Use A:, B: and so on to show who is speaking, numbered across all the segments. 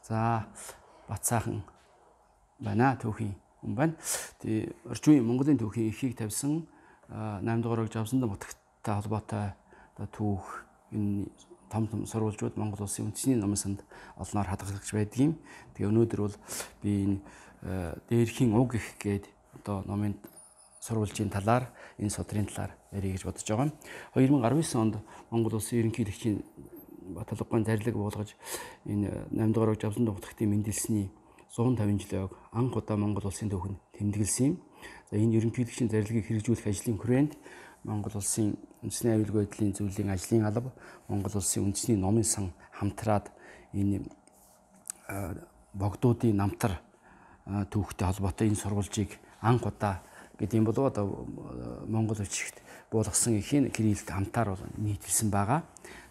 A: За Бацаахан байна түүхийн хүн байна. Тэгээ орчин үеийн Монголын түүхийн эрхийг тавьсан 8 дугаар огж авсандаа нутагтай холбоотой одоо түүх энэ том сурвалжууд Монгол улсын үндэсний номын санд олноор хадгалагч байдгийн. Тэгээ өнөөдөр бол би энэ дээрхийн уг их гээд одоо номын сурвалжийн талаар энэ содрын талаар ярих гэж бодож байгаа. 2019 онд Монгол улсын ерөнхийлөгчийн Баталгааны зарлиг буулгаж энэ 8 дугаар огж авсан нутагтын мэндэлсний 150 жилийн анх удаа Монгол улсын түүхэнд тэмдэглэсэн юм. За энэ ерөнхийлөгчийн зарлигийг хэрэгжүүлэх ажлын хүрээнд Монгол улсын үндэсний аюулгүй байдлын зөвлөлийн ажлын алба, Монгол улсын үндэсний номын сан хамтраад энэ богдуудын намтар түүхтэй холбоотой энэ сурвалжийг анх удаа гэдэг юм болов одоо Монгол бичигт буулгасан эхийн кириллд хамтаар нийтэлсэн байгаа.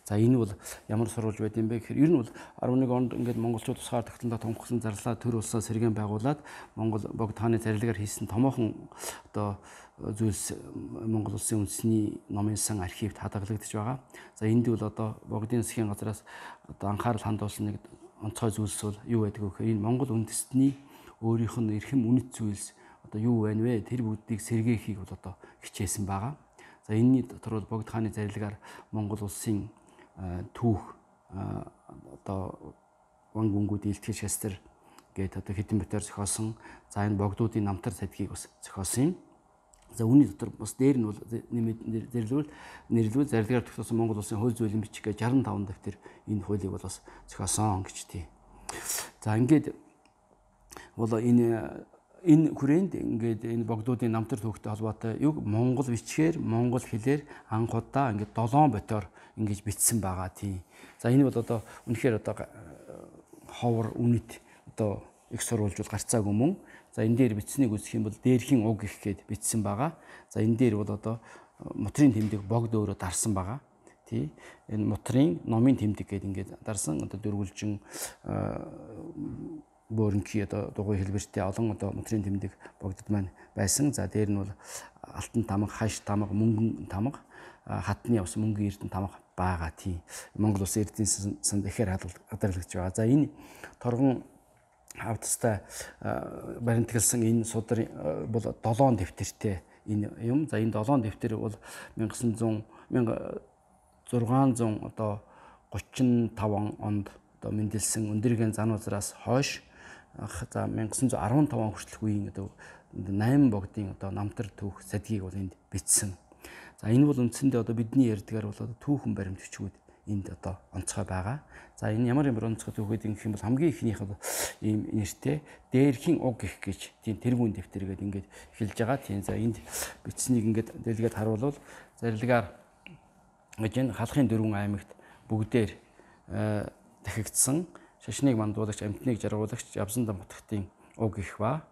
A: За энэ бол ямар сурвалж байд юм бэ гэхээр ер нь бол 11 онд ингээд монголчууд тусгаар тогтнолоо томхсон зарлаа төр улсаа сэргээн байгуулад Монгол богд хааны зарилгаар хийсэн томоохон одоо зүйлс Монгол улсын үндэсний номын сан архивд хадгалагдаж байгаа. За энд бол одоо богдын засгийн газраас одоо анхаарал хандуулсан нэг онцгой зүйлс бол юу байдаг вэ гэхээр энэ Монгол үндэстний өөрийнх нь эрхэм үнэт зүйлс одоо юу байна вэ? Тэр бүгдийг сэргээхийг бол одоо хичээсэн байгаа. За энэний дотор бол богд хааны зарилгаар Монгол улсын түүх одоо ван гүнгүүд илтгэл шастер гээд одоо хэдэн битээр зохиосон. За энэ богдуудын намтар цадгийг бас зохиосон юм. За үүний дотор бас дээр нь бол нэрлүүл зарилгаар тогтоосон Монгол улсын хууль зүйн бичиг гэж 65 дэвтэр энэ хуулийг бол бас зохиосон гэж тий. За ингээд бол энэ хүрээнд ингээд энэ богдуудын намтар түүхтэй холбоотой юг монгол бичгээр монгол хэлээр анх удаа ингээд 7 ботоор ингэж бичсэн байгаа тийм. За энэ бол одоо үнэхээр одоо ховор үнэт одоо их сурвалжууд гарцаагүй мөн. За энэ дээр бичсэнийг үзэх юм бол дээрхийн уг их гэд бичсэн байгаа. За энэ дээр бол одоо мутрын тэмдэг богд өөрөө дарсан байгаа. Тий. Энэ мутрын номын тэмдэг гэд ингээд дарсан одоо дөрвөлжин бөөрөнхий одоо дугуй хэлбэртэй олон одоо мутрын тэмдэг богдод маань байсан. За дээр нь бол алтан тамга, хаш тамга, мөнгөн тамга, хатны ус мөнгөн эрдэнэ тамга байгаа тийм. Монгол улсын эрдэнэ санд ихээр хадгалагдж байгаа. За энэ торгон хавтастай баримтгалсан энэ судар бол 7 дэвтэртэй энэ юм. За энэ 7 дэвтэр бол 1600 одоо 35 онд одоо мэндэлсэн өндөргийн зан узраас хойш за 1915 хүртэлх үеийн одоо 8 богдын одоо намтар түүх садгийг бол энд бичсэн. За энэ бол үндсэндээ одоо бидний ярьдгаар бол одоо түүхэн баримт бичгүүд энд одоо онцгой байгаа. За энэ ямар онцгой түүх гэдэг юм бол хамгийн ихнийх нь ийм нэртэй дээрхийн уг гэх гэж тийм тэргүүн дэвтэр гэдэг ингээд эхэлж байгаа. Тийм за энд бичсэнийг ингээд дэлгээд харуулвал зарилгаар гэж энэ халахын 4 аймагт бүгдээр дахигдсан шашныг мандуулагч, амтныг жаргуулагч, явсан дамтгтын уг их ба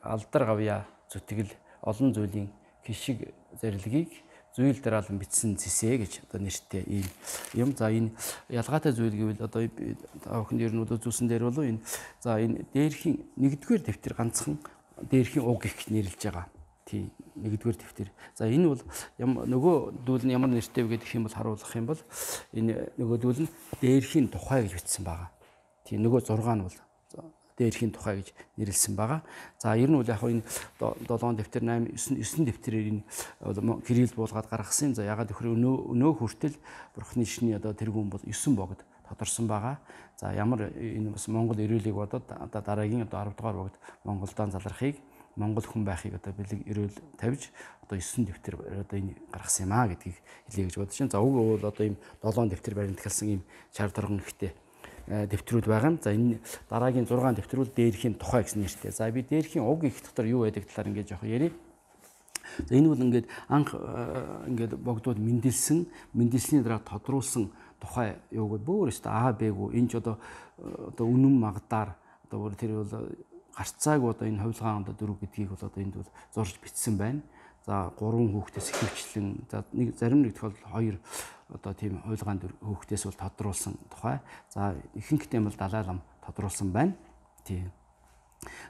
A: алдар гавья зүтгэл олон зүйлийн хишиг зарилгийг зүйл дараалан бичсэн цэсэ гэж одоо нэртэй ийм юм. За энэ ялгаатай зүйл гэвэл одоо охин ер нь одоо зүйлсэн дээр болов энэ за энэ дээрхийн 1-р дэвтэр ганцхан дээрхийн уг их гэж нэрлэж байгаа. Тийм 1-р дэвтэр. За энэ бол нөгөө дүүл нь ямар нэртэй вэ гэдэг юм бол харуулах юм бол энэ нөгөө дүүл нь дээрхийн тухай гэж бичсэн байгаа. Тийм нөгөө 6 нь бол дээрхийн тухай гэж нэрлсэн байгаа. За ер нь бол яг энэ 7 дэвтэр 8 9 дэвтрээр энэ кирилл буулгаад гаргасан. За ягаад гэхээр өнөө хүртэл бурхны шний одоо тэргүүн бол 9 богд тодорсон байгаа. За ямар энэ бас Монгол эрүүлийг бодоод одоо дараагийн одоо 10 дугаар богд Монголдоо залрахыг Монгол хүн байхыг одоо бэлэг эрүүл тавьж одоо 9 дэвтэр одоо энэ гаргасан юм аа гэдгийг хэлье гэж бодож байна. За уг бол одоо ийм 7 дэвтэр баримтгалсан ийм чар торгон ихтэй дэвтрүүд байгаа юм. За энэ дараагийн 6 дэвтэр бол дээрхийн тухай гэсэн нэртэй. За би дээрхийн уг их дотор юу байдаг талаар ингээд жоох ярив. За энэ бол ингээд анх ингээд богдууд мэндэлсний дараа тодруулсан тухай юуг бүр өстө А Б-г энэ ч одоо үнэн магдаар одоо бүр тэр бол гарцааг одоо энэ хувилгаан одоо 4 гэдгийг бол одоо энд бол зорж бичсэн байна. За 3 хүүхдээс ихэвчлэн за нэг зарим нэг тохиолдолд 2 одоо тийм хувилгаан хүүхдээс бол тодруулсан тухай. За ихэнхдээ бол далай лам тодруулсан байна. Тийм.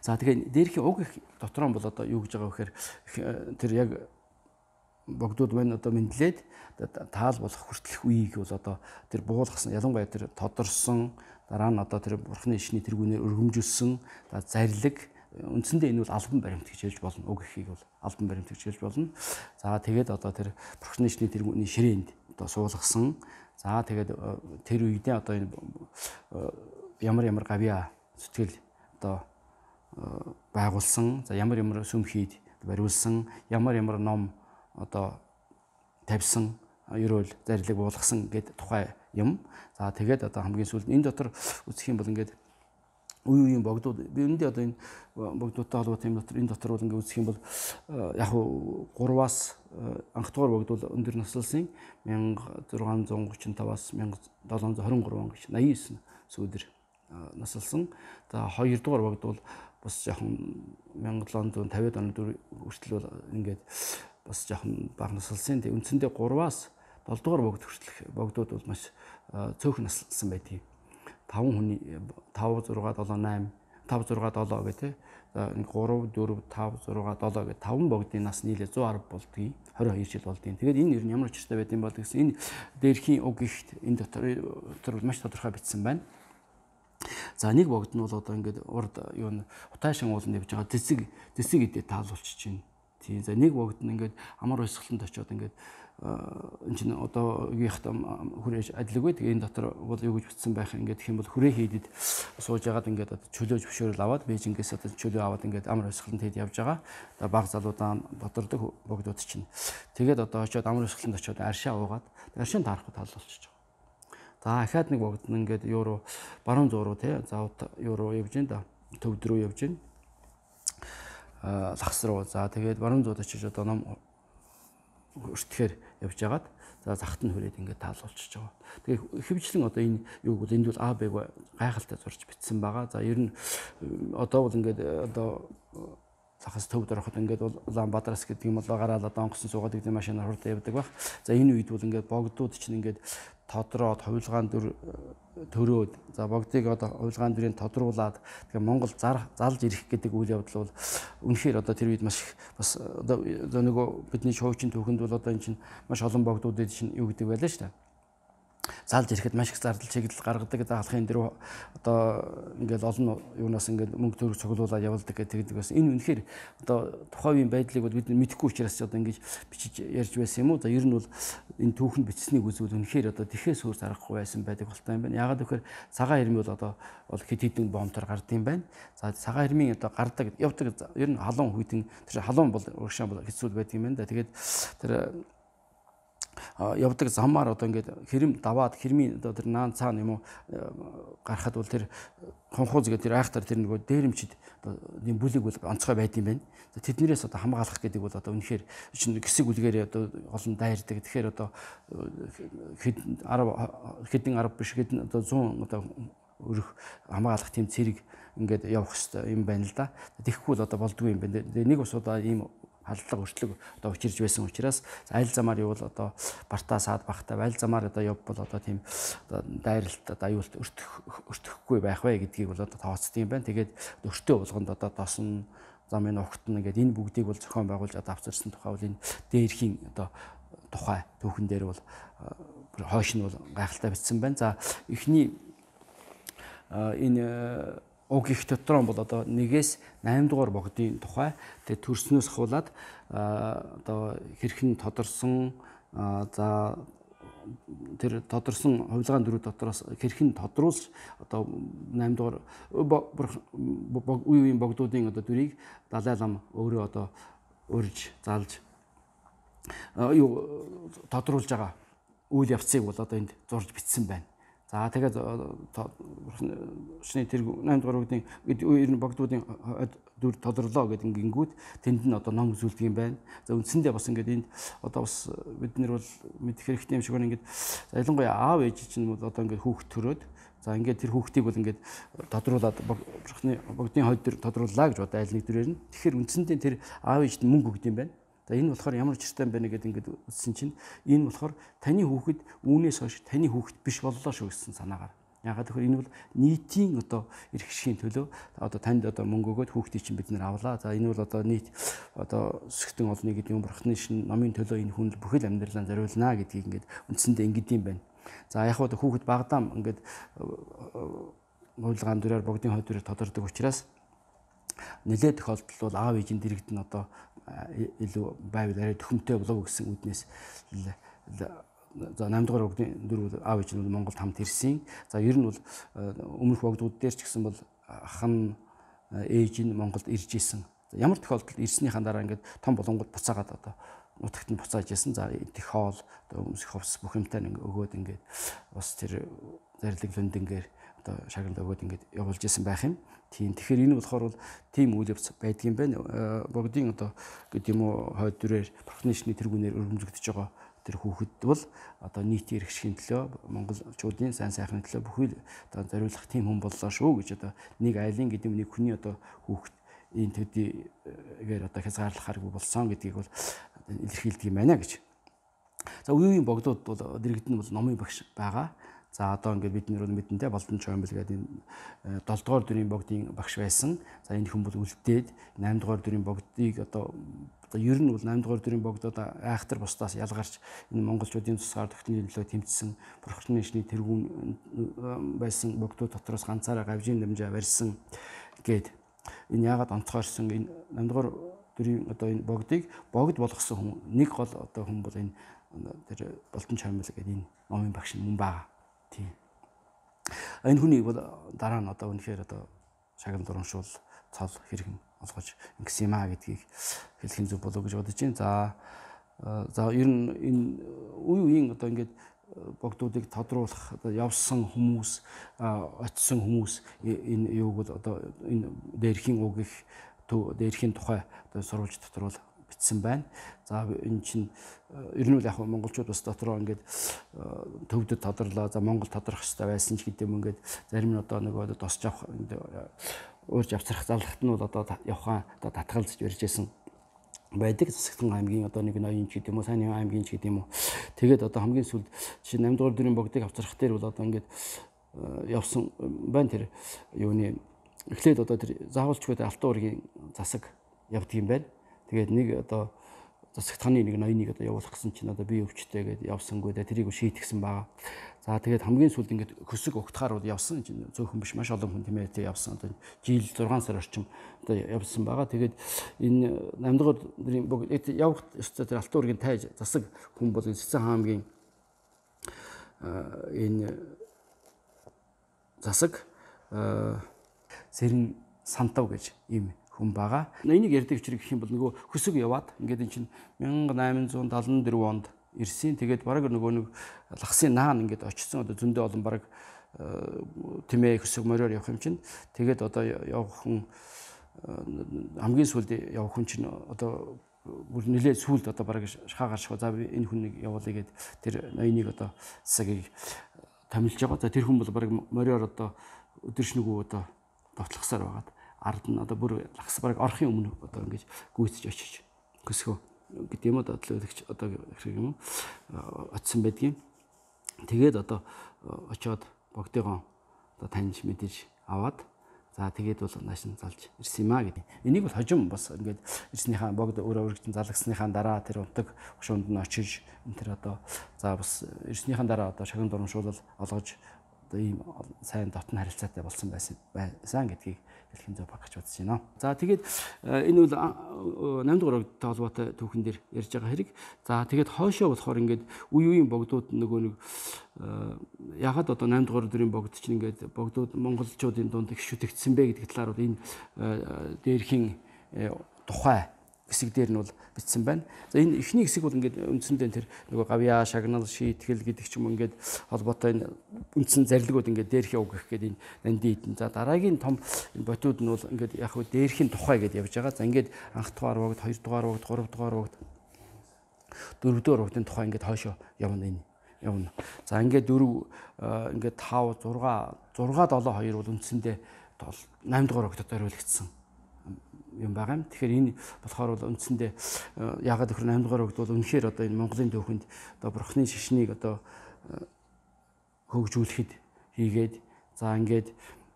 A: За тэгээ дээрхийн уг их дотор нь бол одоо юу гэж байгаа вэ гэхээр тэр яг богдууд маань одоо мэдлээд таал болох хүртэлх үеийг бол одоо тэр буулгасан ялангуяа тэр тодорсон дараа нь одоо тэр бурхны ишний тэргүүнээр өргөмжүүлсэн зарлиг үндсэндээ энэ бол албан баримт гэж хэлж болно. Уг ихийг бол албан баримт гэж хэлж болно. За тэгээд одоо тэр бурхны ишний тэргүүний ширээнд одоо суулгасан. За тэгээд тэр үедээ одоо энэ ямар гавьяа зүтгэл одоо байгуулсан. За ямар сүмхийд бариулсан, ямар ном одоо тавьсан, ерөөл зарлиг буулгасан гэдэг тухай юм. За тэгээд одоо хамгийн сүүлд энэ дотор үзэх юм бол ингээд үеийн богдууд би үүндээ одоо энэ богдуудтай холбоотой юм дотор энэ дотор бол ингээд үзэх юм бол яг хуу 3-аас анх дугаар богдууд өндөр наслсан 1635-аас 1723 он гэж 89 сүүлдэр наслсан. За 2 дугаар богдууд бас жоохон 1750-ад оны хүртэл бол ингээд бас жоохон бага наслсан. Тэгээ үндсэндээ 3-аас 7 дугаар богд хүртэлх богдууд бол маш цөөхөн наслсан байдгийг. 5 хүний 5 6 7 8 5 6 7 гэх тээ. За 3 4 5 6 7 гэх 5 богдын нас нийлээ 110 болдгийг 22 жил болдгийг. Тэгээд энэ ер нь ямар учиртай байд юм бол гэсэн энэ дээрхийн уг ихт энэ дотор маш тодорхой бичсэн байна. За нэг богд нь бол одоо ингээд урд юу н утаашин ууланд явж байгаа дэсэг эдээ таалуулчих чинь. Тийм. За нэг богд нь ингээд амар уйсгаланд очиод ингээд энэ чинь одоо үеийнхтэй хүрээж адилгүй. Тэгээ энэ дотор бол юу гэж бичсэн байх ингээд гэх юм бол хүрээ хийдэд сууж ягаад ингээд чөлөөж бөшөөрөл аваад Бээжингээс одоо чөлөө аваад ингээд амар уйсгаланд хэд явж байгаа. Одоо баг залуудаа дотордог богдууд чинь. Тэгээд одоо очиод амар уйсгаланд очиод аршаа уугаад аршаан таарахгүй таалуулчих. За ахаад нэг богд нь ингээд евро баруун зууруу тий за евро явж гин да төвд рүү явж гин лагс руу. За тэгээд баруун зууд очиж одоо ном өртөхээр явж байгаад за захт нь хүрээд ингээд таалуулчихж байгаа. Тэгээ хэвчлэн одоо энэ юу бол энд бол А Б гайхалтай зурж бичсэн байгаа. За ер нь одоо бол ингээд одоо захаас төвд ороход ингээд бол Улаанбаатараас гэдэг юм бол гараал одоо онгоцсон суугаад гэдэг машинаар хурдан явдаг баг. За энэ үед бол ингээд богдууд чинь ингээд тодроод хувилгаан дүр төрөөд за богдыг одоо хувилгаан дүрийн тодруулаад тэгээ Монгол залж ирэх гэдэг үйл явдал бол үнэхээр одоо тэр үед маш бас одоо нөгөө бидний шоучин түүхэнд бол одоо эн чинь маш олон богдуудад чинь юу гэдэг байлаа шүү дээ. Залж ирэхэд маш их зардал чиглэл гаргадаг. Заалахын дөрөв одоо ингээл олон юунаас ингээд мөнгө төгрөг цуглуулаад явуулдаг гэдэг бас энэ үнэхээр одоо тухайн үеийн байдлыг бол бид мэдэхгүй учраас одоо ингэж бичиж ярьж байсан юм уу? За ер нь бол энэ түүхэнд бичсэнийг үзвэл үнэхээр одоо тэхээс өөр зарахгүй байсан байдаг болтой юм байна. Яагаад гэвэл цагаан хэрми бол одоо бол хэд хэдэн бомтор гард юм байна. За цагаан хэрмийн одоо гардаг явдаг ер нь халуун хүйтэн тэр халуун бол урагшаа бол хэцүү байдаг юм байна да. Тэгээд тэр явдаг замаар одоо ингээд хэрэм даваад хэрмийн одоо тэр наан цаана юм уу гарахад бол тэр хонхууз гэдэг тэр айхтар тэр нөгөө дээрэмчд одоо ийм бүлэг бол онцгой байд юм байна. Тэднэрээс одоо хамгаалах гэдэг бол одоо үнэхээр чинь гисэг үлгээр одоо олон дайрдаг. Тэгэхээр одоо хэдэн 10 биш хэдэн одоо 100 одоо өрөх хамгаалах тийм цэрэг ингээд явах хэрэгтэй юм байна л да. Тэгэхгүй л одоо болдгүй юм байна. Нэг ус удаа ийм халдлага өршлөг одоо учирж байсан учраас аль замаар явбал одоо бартаа саад багтаа аль замаар одоо явбал одоо тийм одоо дайралт одоо аюулт өртөхгүй байх вэ гэдгийг бол одоо тооцдог юм байна. Тэгээд өртөө болгонд одоо досон замын огтно гэдэг энэ бүгдийг бол зохион байгуулж одоо авчирсан тухай бол энэ дээрхийн одоо тухай түүхэн дээр бол хойш нь бол гайхалтай бичсэн байна. За эхний энэ уг их дотроо бол одоо 1-ээс 8 дугаар богдын тухай тэгээд төрснөөс хавуулаад одоо хэрхэн тодорсон за тэр тодорсон хувилгаан дөрөв дотроос хэрхэн тодруулж одоо 8 дугаар үеийн богдуудын одоо дүрийг Далай лам өөрөө одоо урьж залж юу тодруулж байгаа үйл явцыг бол одоо энд зурж бичсэн байна. За тэгээд шний тэр 8 дугаар богдын ер нь богдуудын дүр тодорлоо гэдэг гингүүд тэнд нь одоо ном үзүүлдэг юм байна. За үндсэндээ бас ингээд энд одоо бас бид нар бол мэдэх хэрэгтэй юм шиг байна. Ингээд ялангуяа аав ээж чинь бол одоо ингээд хүүхд төрөөд за ингээд тэр хүүхдийг бол ингээд тодруулаад богдын хойд төр тодрууллаа гэж одоо аль нэг төрөөр нь. Тэгэхээр үндсэндээ тэр аав ээжд мөнгө өгд юм байна. За энэ болохоор ямар ч хэрэгтэй юм бэ гэдэг ингээд үзсэн чинь энэ болохоор таны хүүхэд үүнээс хойш таны хүүхэд биш боллоо шүү гэсэн санаагаар Ягаад гэвэл энэ бол нийтийн одоо эрх ашигын төлөө одоо танд одоо мөнгө өгөөд хүүхдийг чинь бид нэр авлаа. За энэ бол одоо нийт одоо өсгтэн олны гэдэг юм бурхны шин номын төлөө энэ хүн бүхэл амьдралаа зориулнаа гэдгийг ингээд үндсэндээ ингэдэм байна. За яг одоо хүүхэд багдаам ингээд хуулгаан дүрээр богдын хойд дүрээр тодордог учраас нэлээд тохиолдолд бол аав ээжийн дэрэгд нь одоо илүү байвал арай төхөмтэй болов гэсэн үднээс за 8 дугаар богдын дүр аав ээж нь Монголд хамт ирсэн. За ер нь бол өмнөх богдууд дээр ч гэсэн бол ах нь ээж нь Монголд ирж исэн. Ямар тохиолдолд ирснийхаа дараа ингээд том болонгод буцаагаад одоо нутагт нь буцааж исэн. За идэх хоол одоо өмсөх хувцас бүх юмтай өгөөд ингээд бас тэр зарлиг лүндэнгээр одоо шагналд өгөөд ингээд явуулж исэн байх юм. Тийм. Тэгэхээр энэ болохоор бол тийм үйл явц байдгийн байна. Богдын одоо гэдэг юм уу хойд дүрээр бурхны шний тэргүүнээр өргөмжлөгдөж байгаа тэр хүүхэд бол одоо нийтийн эрх ашигын төлөө монголчуудын сайн сайхны төлөө бүхэл одоо зориулах тийм хүн боллоо шүү гэж одоо нэг айлын гэдэг нэг хүний одоо хүүхэд энэ төдийгээр одоо хязгаарлахааргүй болсон гэдгийг бол илэрхийлдэг юм байна гэж. За үеийн богдууд бол дэрэгд нь бол номын багш байгаа. За одоо ингээд бид нэр мэдэнтэй Болдон Чоймбол гэдэг энэ 7 дугаар дүрийн богдын багш байсан. За энэ хүн бол үлдээд 8 дугаар дүрийн богдыг одоо ер нь бол 8 дугаар дүрийн богдод айхтар бусдаас ялгарч энэ монголчуудын тусгаар тогтнолын төлөө тэмцсэн бурхны шний тэргүүн байсан богдууд дотроос ганцаараа гавжийн дамжаа барьсан гээд энэ яагаад онцгойрсон энэ 8 дугаар дүрийн одоо энэ богдыг богд болгосон хүн нэг гол одоо хүн бол энэ тэр Болдон Чоймбол гэдэг энэ номын багш мөн байгаа. Тийм. Энэ хүний бол дараа нь одоо үнэхээр одоо шагнал урамшуул цол хэрхэн олгож ингэсэн юм аа гэдгийг хэлхэн зүг болов гэж бодож байна. За ер нь энэ үеийн одоо ингээд богдуудыг тодруулах одоо явсан хүмүүс очисон хүмүүс энэ юуг бол одоо энэ дээрхийн үг их дээрхийн тухай одоо сурвалж дотор бол бичсэн байна. За энэ чинь ер нь яг монголчууд бас дотроо ингээд төвдөд тодорлоо. За Монгол тодорох хэрэгтэй байсан ч гэдэг юм ингээд зарим нь одоо нөгөө тосч авах уурж авцрах залхахт нь бол одоо явхаа одоо татгалзаж барьжсэн байдаг. Засагтан аймгийн одоо нэг ноён ч гэдэг юм уу, сайн аймгийн ч гэдэг юм уу. Тэгээд одоо хамгийн сүүлд жишээ 8 дугаар дүрийн богдыг авцрах дээр бол одоо ингээд явсан байна тэр юуны эхлээд одоо тэр заавалчгүй алтан уургийн засаг явдаг юм байна. Тэгээд нэг одоо засагтханы нэг ноёныг одоо явуулах гэсэн чинь одоо би өвчтэй гэдээ явсангүй да тэрийг шийтгсэн байгаа. За тэгээд хамгийн сүүлд ингээд хөсөг өгтхаар бол явсан чинь зөөхөн биш маш олон хүн тэмээ явсан. Одоо жил 6 сар орчим одоо явсан байгаа. Тэгээд энэ 8 дугаар дүрийн богд явах ёстой тэр алтан уургийн тайж засаг хүн бол Цэцэн хаан аймгийн энэ засаг Сэрэн Сантав гэж ийм хүн байгаа. Энийг ярьдаг учраас гэх юм бол нөгөө хөсөг яваад ингээд эн чинь 1874 онд ирсэн. Тэгээд бараг нөгөө нэг лагсын наан ингээд очсон. Одоо зөндөө олон бараг тэмээ хөсөг мориор явах юм чинь. Тэгээд одоо явах хүн хамгийн сүүлд явах хүн чинь одоо бүр нэлээд сүүлд одоо бараг шахаагаар шахаа за энэ хүнийг явуулъя гэд тэр ноёныг одоо засагийг томилж байгаа. За тэр хүн бол бараг мориор одоо өдөршнөгөө одоо довтлохсаар байгаад ард нь одоо бүр лагс бараг орохын өмнө одоо ингэж гүйцэж очиж хөсгөө гэдэг юм одоо төлөөлөгч одоо хэрэг юм очсон байдгийн. Тэгээд одоо очиод богдыгоо одоо таньж мэдэж аваад за тэгээд бол нааш нь залж ирсэн юм а гэдэг. Энийг бол хожим бас ингээд ирснийхаа богд өөрөө өргөжтөн залгасныхаа дараа тэр унтаг хушуунд нь очиж энэ тэр одоо за бас ирснийхаа дараа одоо шагнал урамшуулал олгож одоо ийм сайн дотн харилцаатай болсон байсан гэдгийг хэлхэн зөв багч бодож байна. За тэгээд энэ бол 8 дугаар богдтой холбоотой түүхэн дээр ярьж байгаа хэрэг. За тэгээд хойшоо болохоор ингээд үеийн богдууд нөгөө нэг ягаад одоо 8 дугаар дүрийн богд чинь ингээд богдууд монголчуудын дунд их шүтэгдсэн бэ гэдэг талаар бол энэ дээрхийн тухай хэсэг дээр нь бол бичсэн байна. За энэ эхний хэсэг бол ингээд үндсэндээ тэр нөгөө гавьяа, шагнал, шийтгэл гэдэг ч юм ингээд холбоотой энэ үндсэн зарлигууд ингээд дээрхийн үг гэх гээд энэ нандин. За дараагийн том ботууд нь бол ингээд яг хөө дээрхийн тухай гэдээ явж байгаа. За ингээд анх дугаар богд, 2 дугаар богд, 3 дугаар богд, 4 дугаар богдын тухай ингээд хойшоо явна энэ. Явна. За ингээд 4 ингээд 5 6 7 2 бол үндсэндээ 8 дугаар богдод хариулагдсан юм байгаа юм. Тэгэхээр энэ болохоор бол үндсэндээ яагаад гэхээр 8 дугаар богд бол үнэхээр одоо энэ Монголын түүхэнд одоо бурхны шишнийг одоо хөгжүүлэхэд хийгээд За ингээд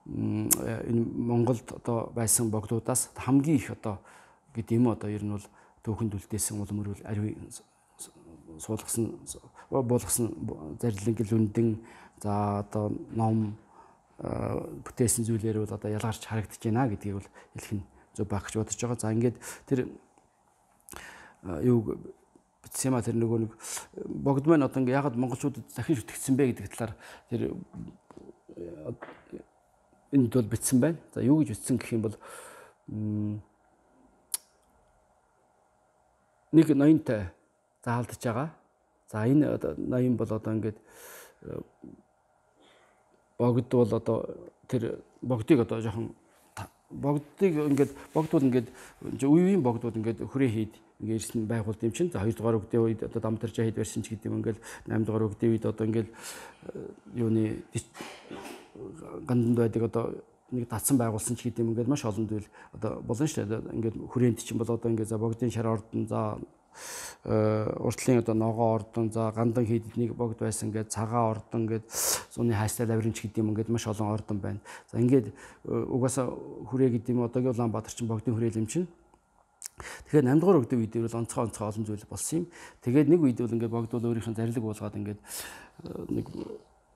A: энэ Монголд одоо байсан богдуудаас хамгийн их одоо гэдэг юм одоо ер нь бол түүхэнд үлдээсэн улам өрөөл ариун суулгасан буулгасан зарлиг лүндэн за одоо ном бүтээсэн зүйлээр бол одоо ялгарч харагдаж байна гэдгийг бол хэлэх нь зөв байх гэж бодож байгаа. За ингээд тэр юу бичсэн юм а тэр нөгөө нэг богд маань одоо ингээ ягаад монголчуудад дахин шүтгцсэн бэ гэдэг талаар тэр энд бол бичсэн байна. За юу гэж бичсэн гэх юм бол нэг ноёнтой заалдж байгаа. За энэ ноён бол одоо ингээд богд бол одоо тэр богдыг одоо жоохон богдыг ингээд богдууд ингээд үеийн богдууд ингээд хүрээ хийд ингээд ирсэн байгуулт юм чинь. За 2 дугаар үгдийн үед одоо дамтарчаа хэд барьсан ч гэдэг юм ингээд 8 дугаар үгдийн үед одоо ингээд юуны ганданд байдаг одоо нэг татсан байгуулсан ч гэдэг юм ингээд маш олон зүйл одоо болно шүү дээ. Ингээд хүрээнд чинь бол одоо ингээд за богдын шар ордон за уртлын одоо ногоо ордон за гандан хийдэд нэг богд байсан ингээд цагаан ордон ингээд зуны хайстай лавринч гэдэг юм ингээд маш олон ордон байна. За ингээд угаасаа хүрээ гэдэг юм одоогийн Улаанбаатар чинь богдын хүрээл юм чинь. Тэгэхээр 8 дугаар үгдийн үед бол онцгой олон зүйл болсон юм. Тэгээд нэг үед бол ингээд богд бол өөрийнх нь зарлиг буулгаад ингээд нэг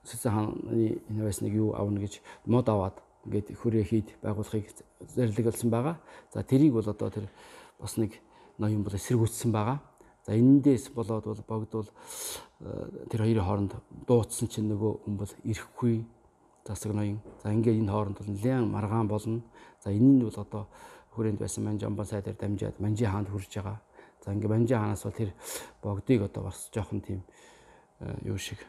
A: Сэцэн хааны энэ байсныг юу авна гэж мод аваад ингээд хүрээ хийд байгуулахыг зарлигласан байгаа. За тэрийг бол одоо тэр бас нэг ноён бол эсэргүүцсэн байгаа. За энэндээс болоод бол богд бол тэр хоёрын хооронд дуудсан чинь нөгөө хүн бол ирэхгүй засаг ноён. За ингээд энэ хооронд бол нэлээд маргаан болно. За энэ нь бол одоо хүрээнд байсан Манжамбан сайдаар дамжаад Манжи хаанд хүрж байгаа. За ингээд Манжи хаанаас бол тэр богдыг одоо бас жоохон тийм юу шиг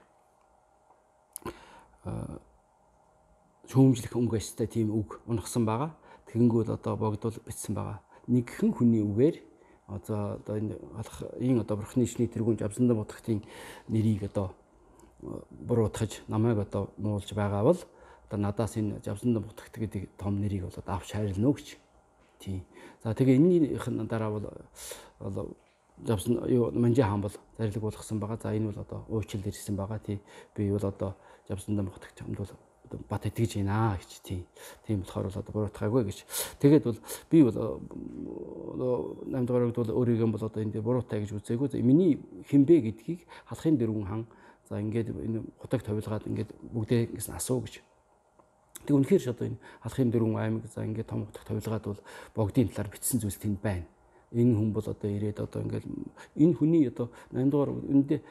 A: шүүмжлэх өнгөстэй тийм үг унахсан байгаа. Тэгэнгүүт одоо богд бол бичсэн байгаа. Нэгхэн хүний үгээр одоо энэ одоо бурхны ичний тэргүүн Жавсандан Будхтын нэрийг одоо буруутгаж намайг одоо муулж байгаа бол одоо надаас энэ Жавсандан Будхт гэдэг том нэрийг бол авч хайрлна гэж. Тийм. За тэгээ энэнийхэн дараа бол Жавсан юу Манжи хаан бол зарлиг болгосон байгаа. За энэ бол одоо уучлал ирсэн байгаа. Тийм. Би бол одоо Жавсандан Будхт хамт бол бат итгэж байна гэж тийм болохоор бол одоо буруутгаагүй гэж. Тэгээд бол би бол 8 дугаар үед бол өөрийгөө бол одоо энэ буруутай гэж үзээгүй. Миний хинбэ гэдгийг халахын дөрвөн хан за ингээд энэ хутаг товилгаад ингээд бүгдээс нь асуу гэж. Тэг үнэхээр одоо энэ халахын дөрвөн аймаг за ингээд том хутаг товилгаад бол богдын талаар бичсэн зүйлс тэнд байна. Энэ хүн бол одоо ирээд одоо ингээд энэ хүний одоо 8 дугаар үндэ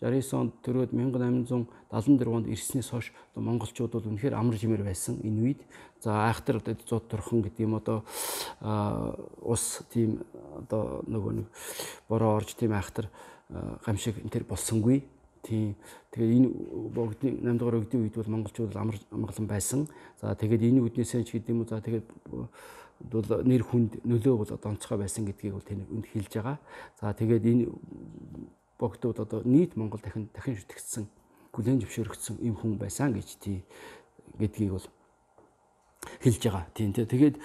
A: 1869 онд төрөөд 1874 онд ирснээс хойш одоо монголчууд бол үнэхээр амар жимээр байсан энэ үед. За айхтар одоо зууд турхан гэдэг юм одоо ус тийм одоо нөгөө нэг бороо орж тийм айхтар гамшиг энэ төр болсонгүй. Тийм. Тэгээд энэ богдын 8 дугаар үгдийн үед бол монголчууд амар амгалан байсан. За тэгээд энэ үднээсээ ч гэдэг юм уу за тэгээд бол нэр хүнд нөлөө бол одоо онцгой байсан гэдгийг бол тэнд хэлж байгаа. За тэгээд энэ богдууд одоо нийт Монгол дахин шүтгцсэн хүлээн зөвшөөрөгдсөн юм хүн байсан гэж гэдгийг бол хэлж байгаа. Тийм тэгээд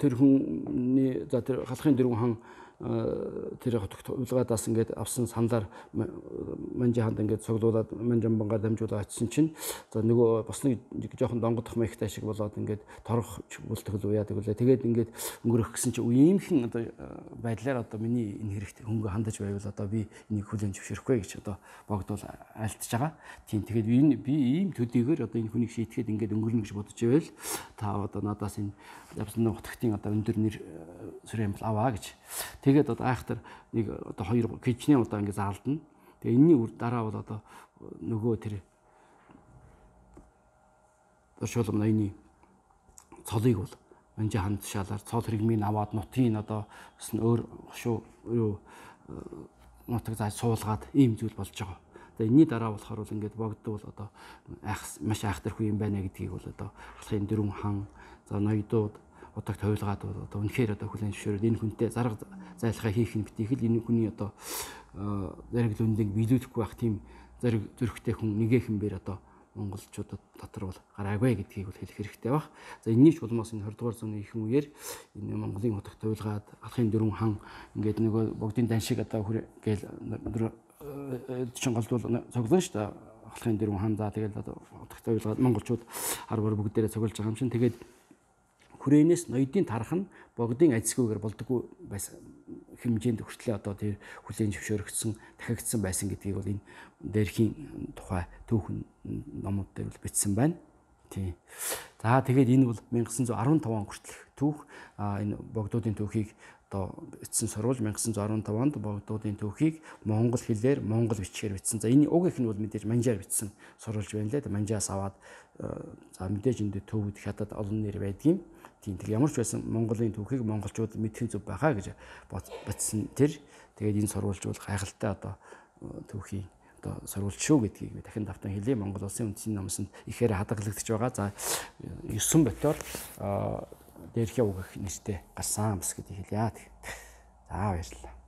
A: тэр хүний за тэр халахын дөрвөн хан тэр улгаадаас ингээд авсан саналаар Манжи хаанд ингээд цуглуулад Манжамбангаар дамжуулаад очисон чинь за нөгөө бас нэг жоохон донгодох маягтай шиг болоод ингээд торох бүлтгэл уяадаг үлээ. Тэгээд ингээд өнгөрөх гэсэн чинь иймхэн одоо байдлаар одоо миний энэ хэрэгт хөнгө хандаж байвал одоо би энийг хүлээн зөвшөөрөхгүй гэж одоо богд бол альтж байгаа. Тийм тэгээд би ийм төдийгээр одоо энэ хүнийг шийтгэхэд ингээд өнгөрнө гэж бодож байвал та одоо надаас энэ Жавсандан Будхтын одоо өндөр нэр сүрэн бол аваа гэж. Тэгээд одоо айхтар нэг одоо 2 кичнээ удаа ингэ заалдана. Тэгээ энэний үр дараа бол одоо нөгөө тэр Оршуулам ноёны цолыг бол Манжи хаан тушаалаар цол хэрэгмийг аваад нутгийн одоо өөр хошуу юу нутаг зааж суулгаад ийм зүйл болж байгаа. За энэний дараа болохоор бол ингээд богд бол одоо маш айхтар хүн юм байна гэдгийг бол одоо халахын дөрвөн хан за ноёдууд утаг тойлгаад бол одоо үнэхээр одоо хүлээн зөвшөөрөд энэ хүнтэй зарга зайлхаа хийх нь битгий л энэ хүний одоо зариг лүндийг биелүүлэхгүй байх тийм зариг зөрөгтэй хүн нэгэхэн бэр одоо монголчуудад дотор бол гараагүй гэдгийг бол хэлэх хэрэгтэй баг. За энэний ч улмаас энэ 20 дугаар зууны ихэнх үеэр энэ Монголын утаг тойлгаад халахын дөрвөн хан ингээд нөгөө богдын дан шиг одоо гээл чин голдвол цоглон шүү дээ ахлахын дөрвөн хаан за тэгэл одоо утгатай ойлгоод монголчууд арбар бүгдээрээ цуглаж байгаа юм шин. Тэгээд хүрээнээс ноёдын тарах нь богдын ажисгүйгээр болдоггүй байсан хэмжээнд хүртлээ одоо тэр хүлээн зөвшөөрөгдсөн дахигдсан байсан гэдгийг бол энэ дээрхийн тухай түүхэн номууд дээр бол бичсэн байна. Тийм. За тэгээд энэ бол 1915 он хүртэлх түүх. Энэ богдуудын түүхийг одоо бичсэн сурвалж 1915 онд богдуудын түүхийг монгол хэлээр монгол бичгээр бичсэн. За энэ уг их нь бол мэдээж манжаар бичсэн сурвалж байна лээ. Манжаас аваад за мэдээж энэ төвд хятад олон нэр байдгийн. Тийм тэг ямар ч байсан Монголын түүхийг монголчууд мэдхэн зүв байхаа гэж бодсон тэр. Тэгээд энэ сурвалж бол гайхалтай одоо түүхийн одоо сурвалж шүү гэдгийг би дахин давтан хэлье. Монгол улсын үндэсний номсонд ихээр хадгалагдаж байгаа. За 9 ботоор дээрхээ үг их нэртэй гарсан бас гэдгийг хэлье. За баярлалаа.